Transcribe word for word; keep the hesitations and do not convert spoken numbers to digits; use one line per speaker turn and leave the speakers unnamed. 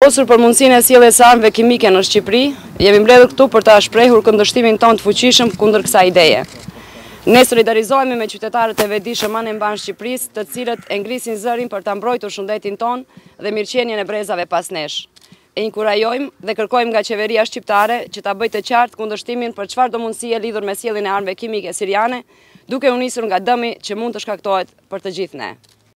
Vendosur për mundësinë e sjelljes së armëve kimike në Shqipëri, jemi mbledhur këtu për ta shprehur kundërshtimin tonë të fuqishëm kundër kësaj ideje. Ne solidarizohemi me qytetarët e vetëdijshëm anembanë Shqipërisë, të cilët e ngrisin zërin për ta mbrojtur shëndetin tonë dhe mirëqenien e brezave pas nesh. E inkurajojmë dhe kërkojmë nga qeveria shqiptare që ta bëjë të qartë kundërshtimin për çfarëdo mundësie lidhur me sjelljen e armëve kimike siriane, duke u nisur nga dëmi që mund të shkaktohet për të gjithë ne.